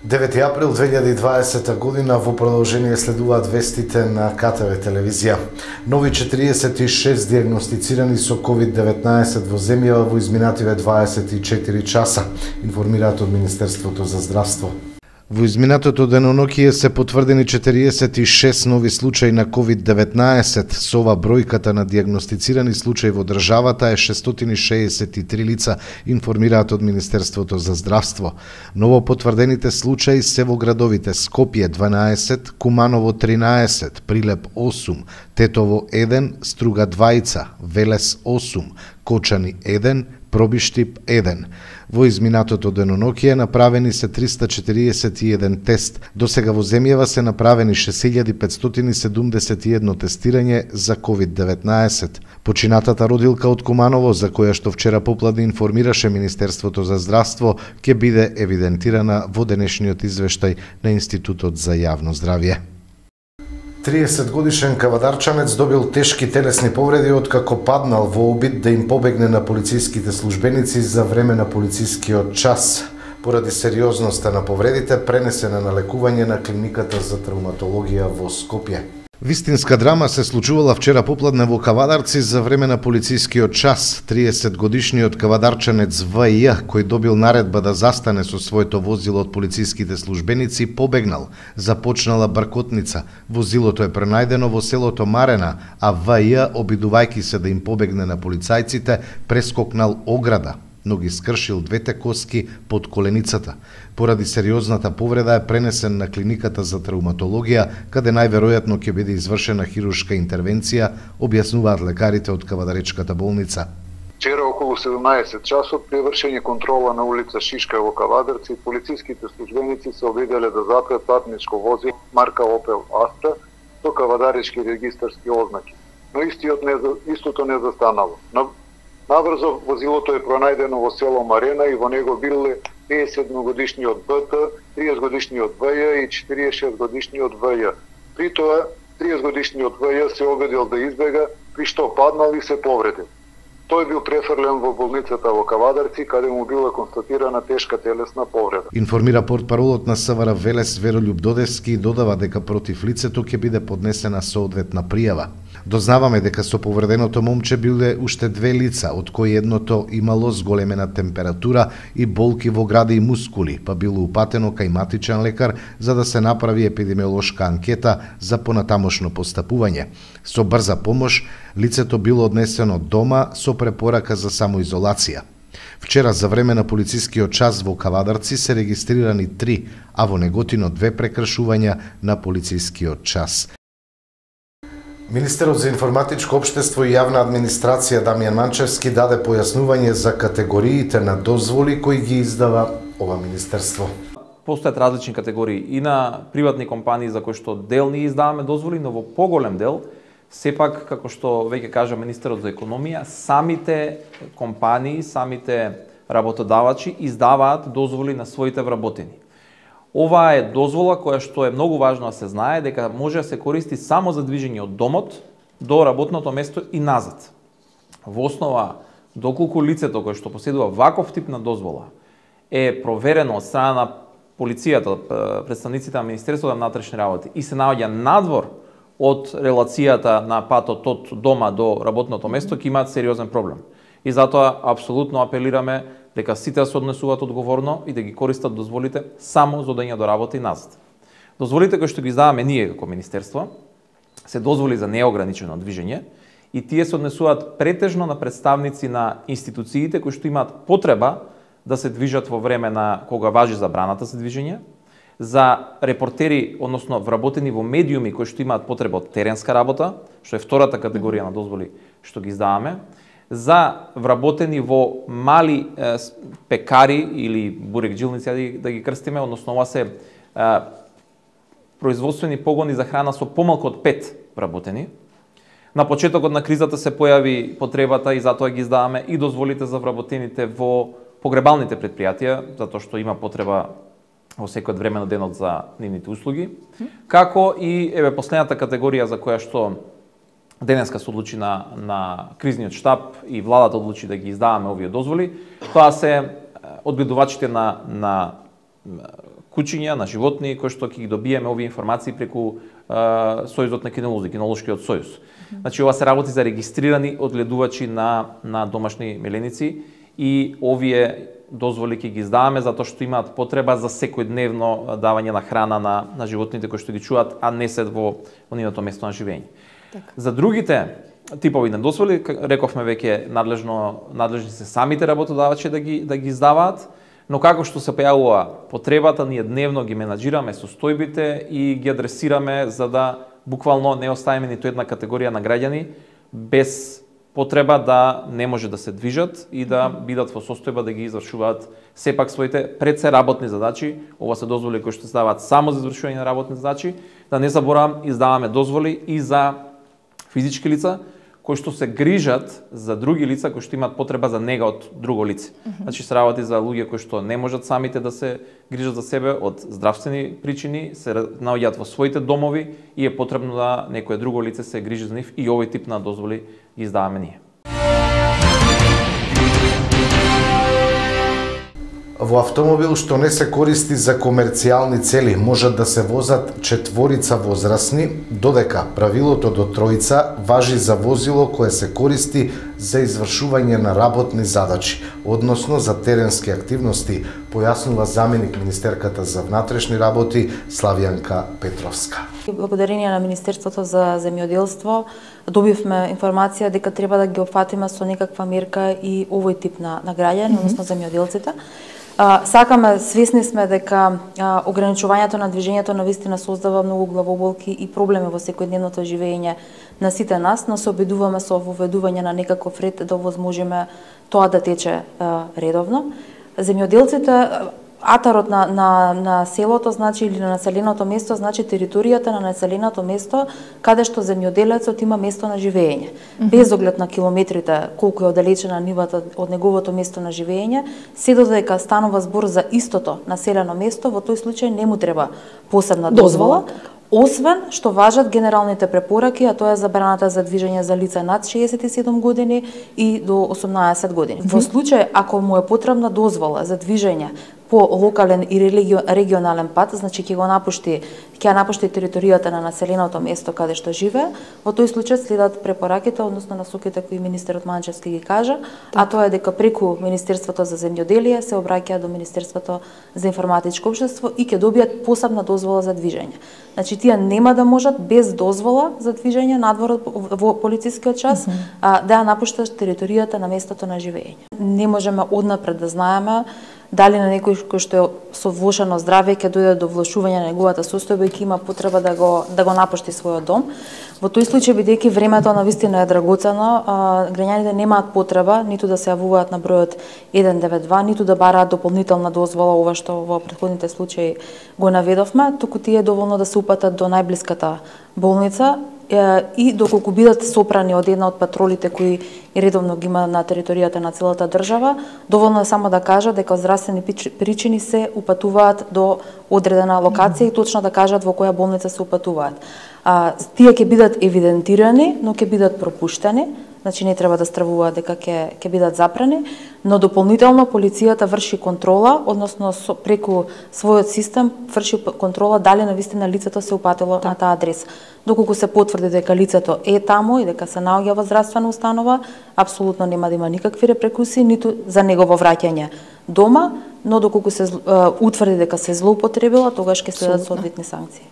Девети април 2020 година во продолжение следуваат вестите на КТВ телевизија. Нови 46 диагностицирани со COVID-19 во земјава во изминативе 24 часа, информираат од Министерството за здравство. Во изминатото денонокие се потврдени 46 нови случаи на COVID-19. Со ова бројката на диагностицирани случаи во државата е 663 лица, информираат од Министерството за здравство. Ново потврдените случаи се во градовите Скопје 12, Куманово 13, Прилеп 8, Тетово 1, Струга 2, Велес 8, Кочани 1, Пробиштип 1. Во изминатото денонокие направени се 341 тест. Досега во земјава се направени 6571 тестирање за COVID-19. Починатата родилка од Куманово, за која што вчера попладне информираше Министерството за здравство, ќе биде евидентирана во денешниот извештај на Институтот за јавно здравје. 30-годишен кавадарчанец добил тешки телесни повреди откако паднал во обид да им побегне на полициските службеници за време на полицискиот час. Поради сериозноста на повредите, пренесена на лекување на клиниката за травматологија во Скопје. Вистинска драма се случувала вчера попладне во Кавадарци за време на полицискиот час. 30-годишниот кавадарчанец В.Ј, кој добил наредба да застане со своето возило од полициските службеници, побегнал. Започнала бркотница. Возилото е пронајдено во селото Марена, а В.Ј, обидувајќи се да им побегне на полицајците, прескокнал ограда, но ги скршил двете коски под коленицата. Поради сериозната повреда е пренесен на клиниката за травматологија, каде најверојатно ќе биде извршена хируршка интервенција, објаснуваат лекарите од Кавадаречката болница. Вчера околу 17 часот при вршење контрола на улица Шишка во Кавадарци, полициските службеници се обиделе да запрат патничко возило марка Opel Astra со кавадаречки регистарски ознаки, но истото не застанало. Наврзо возилото е пронајдено во село Марена и во него биле 51-годишниот БТ, 30-годишниот ВЈ и 46-годишниот ВЈ. При тоа, 30-годишниот ВЈ се обидел да избега, при што паднал и се повредил. Тој бил префрлен во болницата во Кавадарци, каде му била констатирана тешка телесна повреда. Информира портпаролот на СВР Велес Веролјуб Додевски и додава дека против лицето ќе биде поднесена соодветна пријава. Дознаваме дека со повреденото момче биле уште две лица, од кои едното имало зголемена температура и болки во гради и мускули, па било упатено кај матичен лекар за да се направи епидемиолошка анкета за понатамошно постапување. Со брза помош, лицето било однесено дома со препорака за самоизолација. Вчера за време на полицискиот час во Кавадарци се регистрирани 3, а во Неготино 2 прекршувања на полицискиот час. Министерот за информатичко општество и јавна администрација Дамјан Манчевски даде појаснување за категориите на дозволи кои ги издава ова министерство. Постојат различни категории и на приватни компании за кои што дел ни издаваме дозволи, но во поголем дел, сепак, како што веќе кажа министерот за економија, самите компании, самите работодавачи издаваат дозволи на своите вработени. Ова е дозвола која што е многу важно да се знае дека може да се користи само за движење од домот до работното место и назад. Во основа, доколку лицето кое што поседува ваков тип на дозвола е проверено од страна на полицијата, представниците на Министерството на внатрешни работи и се наоѓа надвор од релацијата на патот од дома до работното место, ќе имаат сериозен проблем. И затоа апсолутно апелираме дека сите се однесуваат одговорно и да ги користат дозволите само за одење до работа и назад. Дозволите кои што ги издаваме ние како министерство се дозволи за неограничено движење и тие се однесуваат претежно на представници на институциите кои што имаат потреба да се движат во време на кога важи забраната за движење, за репортери, односно вработени во медиуми кои што имаат потреба од теренска работа, што е втората категорија на дозволи што ги издаваме, за вработени во мали пекари или бурекджилници, да ги крстиме, односно ова се производствени погони за храна со помалку од 5 вработени. На почетокот на кризата се појави потребата и затоа ги издаваме и дозволите за вработените во погребалните предпријатија, затоа што има потреба во секој време на денот за нивните услуги, како и последната категорија за која што денеска се одлучи на кризниот штаб и владата одлучи да ги издаваме овие дозволи, тоа се одгледувачите на кучиња, на животни, кои што ќе ги добиеме овие информации преку Сојузот на кинолози, Кинолошкиот сојуз. Значи, ова се работи за регистрирани одгледувачи на домашни меленици и овие дозволи ќе ги издаваме затоа што имаат потреба за секојдневно давање на храна на животните кои што ги чуваат, а не се во нивното место на живење. Така. За другите типови на дозволи, рековме веќе надлежни се самите работодавачи да ги издаваат, но како што се појавува потребата, ние дневно ги менаџираме состојбите и ги адресираме за да буквално не оставиме ниту една категорија на граѓани без потреба да не може да се движат и да бидат во состојба да ги извршуваат сепак своите пред се работни задачи. Ова се дозволи кои што се даваат само за извршување на работни задачи. Да не заборавам, издаваме дозволи и за физички лица кои што се грижат за други лица кои што имаат потреба за нега од друго лице. Значи се работи за луѓе кои што не можат самите да се грижат за себе од здравствени причини, се наоѓаат во своите домови и е потребно да некое друго лице се грижи за нив и овој тип на дозволи ги издаваме ние. Во автомобил што не се користи за комерцијални цели можат да се возат 4 возрастни, додека правилото до 3 важи за возило кое се користи за извршување на работни задачи, односно за теренски активности, појаснува заменик министерката за внатрешни работи Славјанка Петровска. Благодарение на Министерството за земјоделство добивме информација дека треба да ги опфатиме со некаква мерка и овој тип на граѓани, односно земјоделците. Сакаме, свесни сме дека ограничувањето на движењето навистина создава многу главоболки и проблеми во секојдневното живење на сите нас, но се обидуваме со воведување на некаков ред да овозможиме тоа да тече редовно. Земјоделците, атарот на селото, значи, или на населеното место, значи територијата на населеното место каде што земјоделецот има место на живење. Без оглед на километрите, колку е оддалечена нивата од неговото место на живење, се додека станува збор за истото населено место, во тој случај не му треба посебна дозвола, освен што важат генералните препораки, а тоа е забраната за движење за лица над 67 години и до 18 години. Во случај ако му е потребна дозвола за движење по локален и регионален пат, значи ќе напушти територијата на населеното место каде што живее, во тој случај следат препораките, односно насоките кои министерот Манчевски ги кажа, а тоа е дека преку Министерството за земјоделие се обраќаат до Министерството за информатичко општество и ќе добијат посебна дозвола за движење. Значи тие нема да можат без дозвола за движење надвор во полицискиот час да ја напуштат територијата на местото на живење. Не можеме однапред да знаеме дали на некој кој што е со влошено здравје ќе дојде до влошување на неговата состојба и ќе има потреба да го напушти својот дом. Во тој случај, бидејќи времето навистина е драгоцено, граѓаните немаат потреба ниту да се јавуваат на бројот 192, ниту да бараат дополнителна дозвола, ова што во претходните случаи го наведовме, туку тие е доволно да се упатат до најблиската болница и доколку бидат сопрани од една од патролите кои редовно ги има на територијата на целата држава, доволно е само да кажат дека од здравствени причини се упатуваат до одредена локација и точно да кажат во која болница се упатуваат. Тие ќе бидат евидентирани, но ќе бидат пропуштени, значи не треба да стравуваат дека ќе бидат запрени, но дополнително полицијата врши контрола, односно преку својот систем врши контрола дали навистина лицето се упатило на таа адреса. Доколку се потврди дека лицето е таму и дека се наоѓа во здравствена установа, апсолутно нема да има никакви репрекусии ниту за негово враќање дома, но доколку се утврди дека се злоупотребила, тогаш ќе следат соодветни санкции.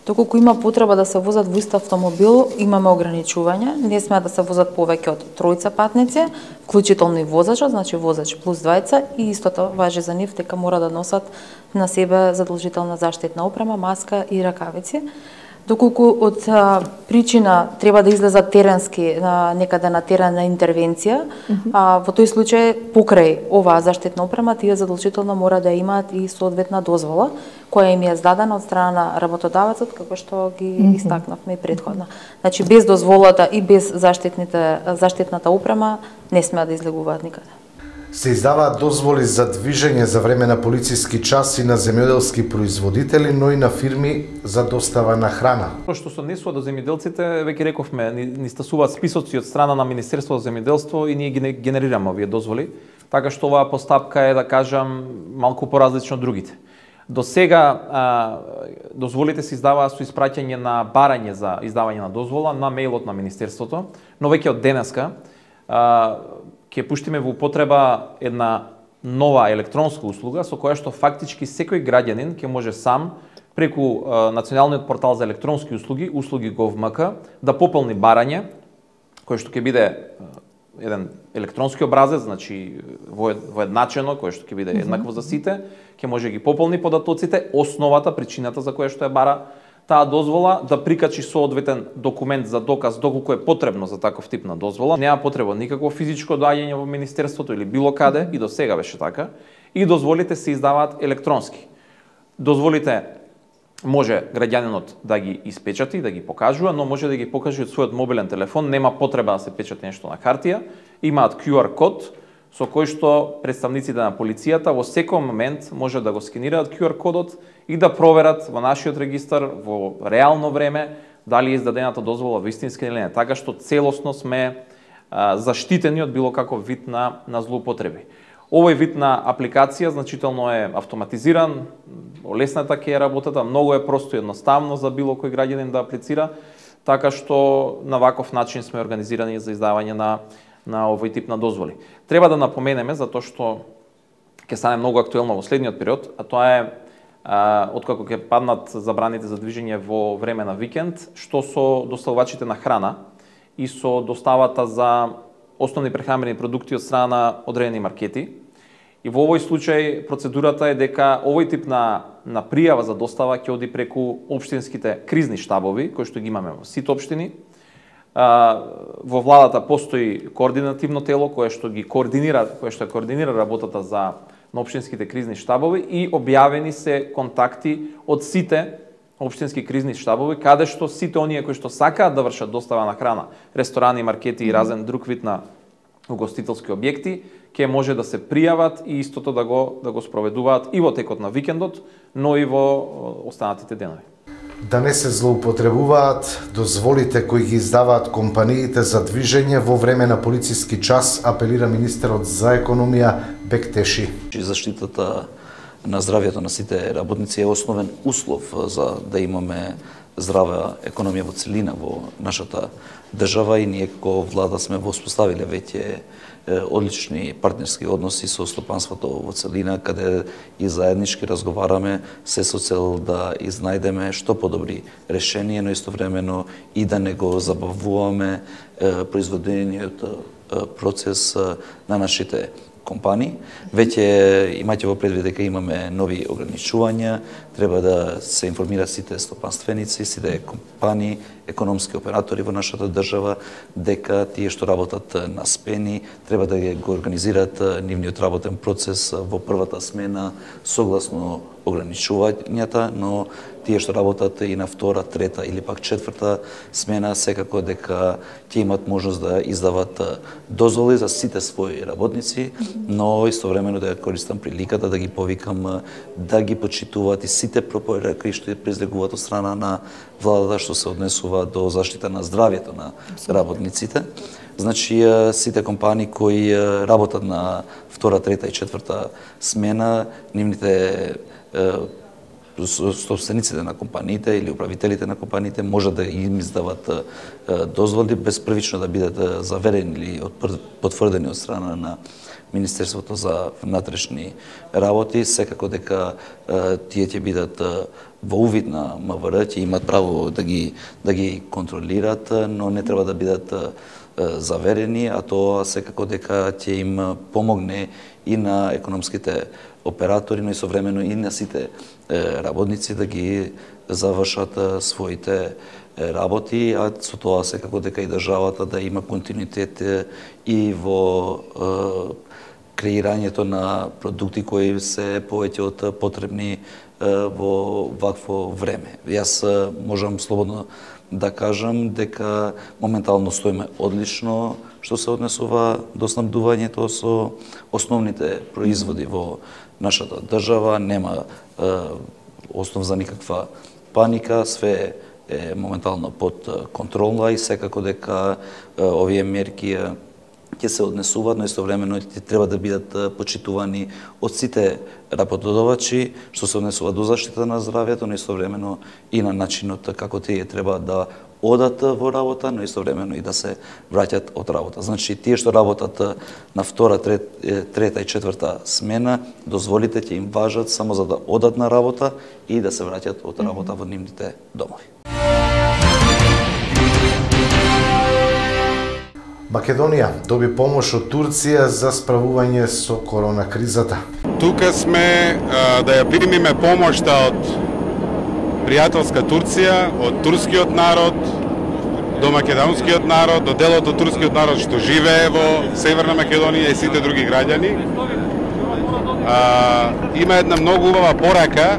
Доколку има потреба да се возат во ист автомобил, имаме ограничување. Не сме да се возат повеќе од 3 патници, вклучително и возачот, значи возач плюс 2, и истото важи за нив дека мора да носат на себе задолжителна заштитна опрема, маска и ракавици. Доколку од причина треба да излезат теренски некаде на терен на интервенција, во тој случај покрај оваа заштитна опрема тие задолжително мора да имаат и соодветна дозвола која им е издадена од страна на работодавецот, како што ги истакнавме и претходно. Значи без дозволата и без заштитната опрема не смеат да излегуваат никаде. Се издаваат дозволи за движење за време на полициски час и на земјоделски производители, но и на фирми за достава на храна. Што се однесува до земјоделците, веќе рековме, ни стасуваат списоци од страна на Министерството за земјоделство и ние ги генерираме овие дозволи, така што оваа постапка е, да кажам, малку поразлична од другите. До сега дозволите се издаваа со испраќање на барање за издавање на дозвола на мејлот на Министерството, но веќе од денеска ќе пуштиме во употреба една нова електронска услуга со која што фактички секој граѓанин ќе може сам преку Националниот портал за електронски услуги, услуги Gov.mk, да пополни барање, кој што ќе биде еден електронски образец, значи воедначено, кој што ќе биде еднакво за сите, ќе може ги пополни податоците, основата, причината за која што е бара таа дозвола, да прикачи соодветен документ за доказ доколку е потребно за таков тип на дозвола. Нема потреба никакво физичко доаѓање во Министерството или било каде, и до сега беше така, и дозволите се издаваат електронски. Дозволите може граѓанинот да ги испечати, да ги покажува, но може да ги покаже од својот мобилен телефон, нема потреба да се печати нешто на хартија, имаат QR код со кој што представниците на полицијата во секој момент може да го скенираат QR кодот и да проверат во нашиот регистар во реално време дали е издадената дозвола вистинска или не, така што целосно сме заштитени од било каков вид на злоупотреби. Овој вид на апликација значително е автоматизиран, олесната ќе е работата, многу е просто и едноставно за било кој граѓанин да аплицира, така што на ваков начин сме организирани за издавање на овој тип на дозволи. Треба да напоменеме, затоа што ќе стане многу актуелно во следниот период, а тоа е откако ќе паднат забраните за движење во време на викенд, што со доставувачите на храна и со доставата за основни прехранбени продукти од страна на одредени маркети. И во овој случај процедурата е дека овој тип на пријава за достава ќе оди преку општинските кризни штабови, кои што ги имаме во сите општини. Во владата постои координативно тело кое што координира работата на општинските кризни штабови и објавени се контакти од сите општински кризни штабови, каде што сите оние кои што сакаат да вршат достава на храна, ресторани, маркети и разен друг вид на угостителски објекти, ќе може да се пријават и истото да го спроведуваат и во текот на викендот, но и во останатите денови. Да не се злоупотребуваат дозволите кои ги издаваат компаниите за движење во време на полициски час, апелира министерот за економија Бектеши. Заштитата на здравјето на сите работници е основен услов за да имаме здрава економија во целина во нашата држава и ние како влада сме воспоставиле веќе одлични партнерски односи со стопанството во целина, каде и заеднички разговараме се со цел да изнајдеме што подобри решение, но истовремено и да не го забавуваме производениот процес на нашите компании. Веќе имајте во предвид дека имаме нови ограничувања, треба да се информираат сите стопанственици, сите компании, економски оператори во нашата држава, дека тие што работат на смени, треба да го организираат нивниот работен процес во првата смена согласно ограничувањата, но тие што работат и на втора, трета или пак четврта смена, секако дека ќе имат можност да издават дозволи за сите своји работници, но истовремено да користам приликата да ги повикам да ги почитуваат и сите препораки што произлегуваат од страна на владата што се однесува до заштита на здравјето на работниците. Значи, сите компании кои работат на втора, трета и четврта смена, нивните собствениците на компаниите или управителите на компаниите може да им издават дозволи без првично да бидат заверени или потврдени од страна на Министерството за внатрешни работи, секако дека тие ќе бидат во увид на МВР, ќе имат право да ги контролират, но не треба да бидат заверени, а тоа секако дека ќе им помогне и на економските оператори, но и современо и на сите работници да ги завршат своите работи, а со тоа секако дека и државата да има континуитет и во креирањето на продукти кои се повеќе од потребни во вакво време. Јас можам слободно да кажам дека моментално стоиме одлично што се однесува до снабдувањето со основните производи во нашата држава. Нема основ за никаква паника, све е моментално под контрола и секако дека овие мерки ќе се однесуваат, но истовремено треба да бидат почитувани од сите работодавачи, што се однесува до заштита на здравјето, но истовремено и на начинот како тие треба да одат во работа, но истовремено и да се враќат од работа. Значи, тие што работат на втора, трета и четврта смена, дозволите ќе им важат само за да одат на работа и да се враќат од работа во нивните домови. Македонија доби помош од Турција за справување со корона кризата. Тука сме да ја примиме помошта од пријателска Турција, од турскиот народ, до македонскиот народ, до делот од турскиот народ што живее во Северна Македонија и сите други граѓани. Има една многу убава порака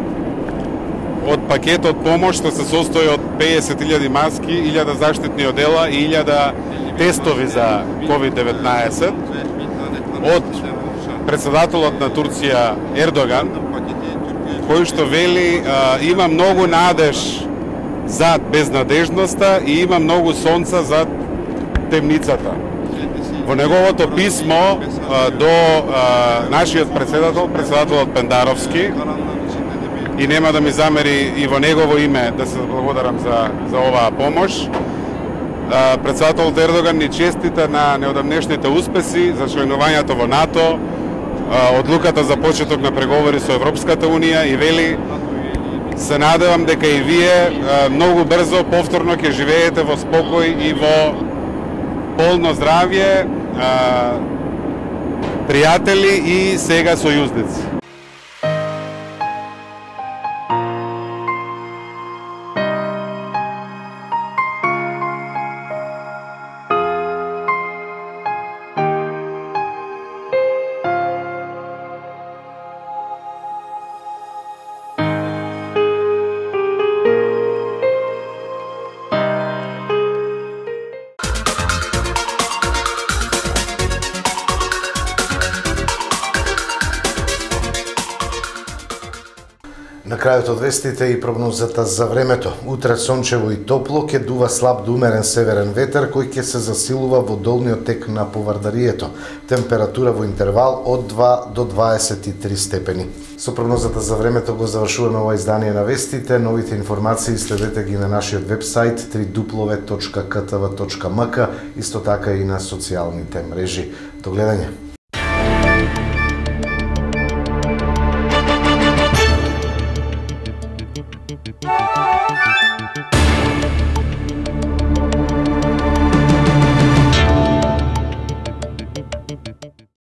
од пакетот помош што се состои од 50.000 маски, 1000 заштитни одела и 1000 тестови за COVID-19 од председателот на Турција Ердоган, кој што вели има многу надеж зад безнадежноста и има многу сонца зад темницата. Во неговото писмо до нашиот председателот Пендаровски, и нема да ми замери и во негово име да се благодарам за оваа помош, председателот Ердоган ни честита на неодамнешните успеси за членувањето во НАТО, одлуката за почеток на преговори со Европската Унија и вели: се надевам дека и вие многу брзо повторно ќе живеете во спокој и во полно здравје, пријатели и сега сојузници. На крајот од вестите и прогнозата за времето. Утре сончево и топло, ќе дува слаб до умерен северен ветер кој ќе се засилува во долниот тек на Повардарието. Температура во интервал од 2 до 23 степени. Со прогнозата за времето го завршуваме ова издание на вестите. Новите информации следете ги на нашиот вебсайт www.ktv.mk, исто така и на социјалните мрежи. До гледање. Bye.